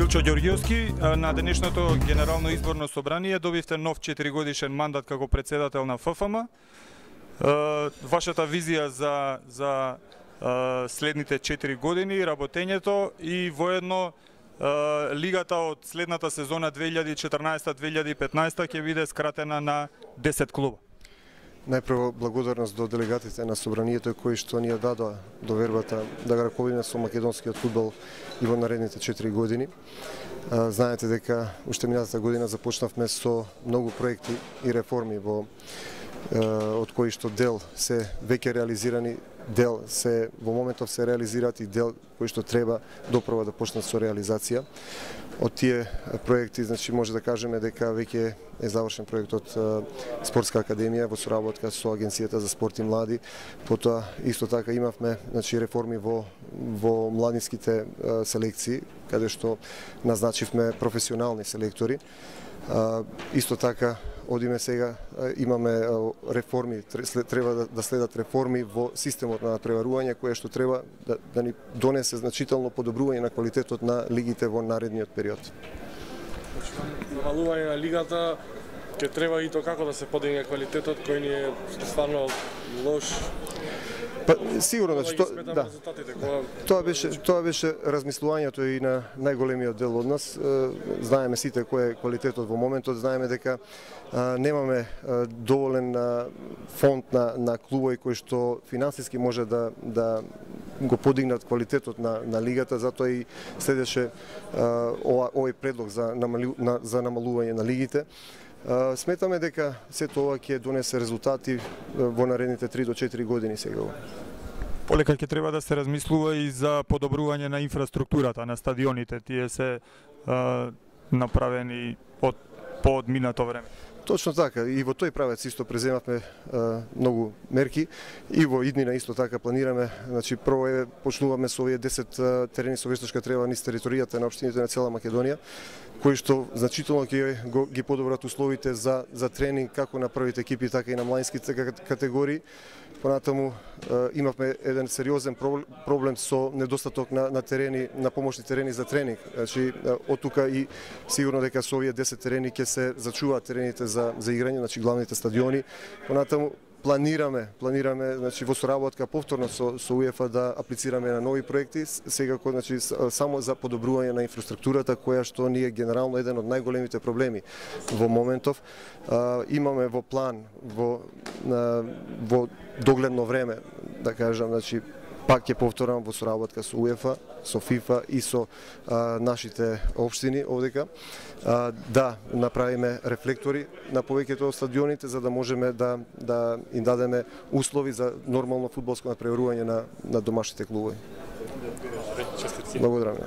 Илчо Ѓорѓиевски, на денешното генерално изборно собрание добивте нов 4-годишен мандат како председател на ФФМ. Вашата визија за следните 4 години, работењето и воедно лигата од следната сезона 2014-2015 ќе биде скратена на 10 клуба. Најпрво благодарност до делегатите на собранието кои што ни ја дадоа довербата да го раководиме со македонскиот фудбал и во наредните 4 години. Знаете дека уште минатата година започнавме со многу проекти и реформи од кои што дел се веќе реализирани, дел се во моментов се реализираат и дел кои што треба допрва да почнат со реализација. Од тие проекти, значи може да кажеме дека веќе е завршен проектот Спортска академија во соработка со Агенцијата за спорт и млади. Потоа исто така имавме значи реформи во младинските селекции, каде што назначивме професионални селектори. Исто така одиме сега, имаме реформи, треба да следат реформи во системот на преварување, кое што треба да ни донесе значително подобрување на квалитетот на лигите во наредниот период. Намалување на лигата ќе треба и то како да се подигне квалитетот кој ни е стварно лош. Па сигурно, значи тоа беше размислувањето и на најголемиот дел од нас. Знаеме сите кој е квалитетот во моментот, знаеме дека немаме доволен фонд на клубови кои што финансиски може да го подигнат квалитетот на лигата, затоа и следеше овој предлог за намалување на лигите. Сметаме дека сето ова ќе донесе резултати во наредните 3 до 4 години сега. Полека ќе треба да се размислува и за подобрување на инфраструктурата на стадионите. Тие се направени по одминато време. Точно така, и во тој правец исто преземавме многу мерки и во иднина исто така планираме, значи прво почнуваме со овие 10 терени со вештачка трева низ територијата на општините на цела Македонија, кои што значително ќе ги подобрат условите за тренинг како на првите екипи, така и на младинските категории. Понатаму имавме еден сериозен проблем со недостаток на терени, на помошни терени за тренинг. Значи од тука и сигурно дека со овие 10 терени ќе се зачуваат терените за играње, значи главните стадиони. Понатаму планираме значи во соработка повторно со УЕФА да аплицираме на нови проекти, секако значи само за подобрување на инфраструктурата која што ни е генерално еден од најголемите проблеми во моментов. Имаме во план во догледно време, да кажам, значи пак ќе повторам во соработка со УЕФА, со ФИФА и со нашите општини овдека, да направиме рефлектори на повеќето од стадионите за да можеме да им дадеме услови за нормално фудбалско надпреварување на домашните клубови. Благодарам.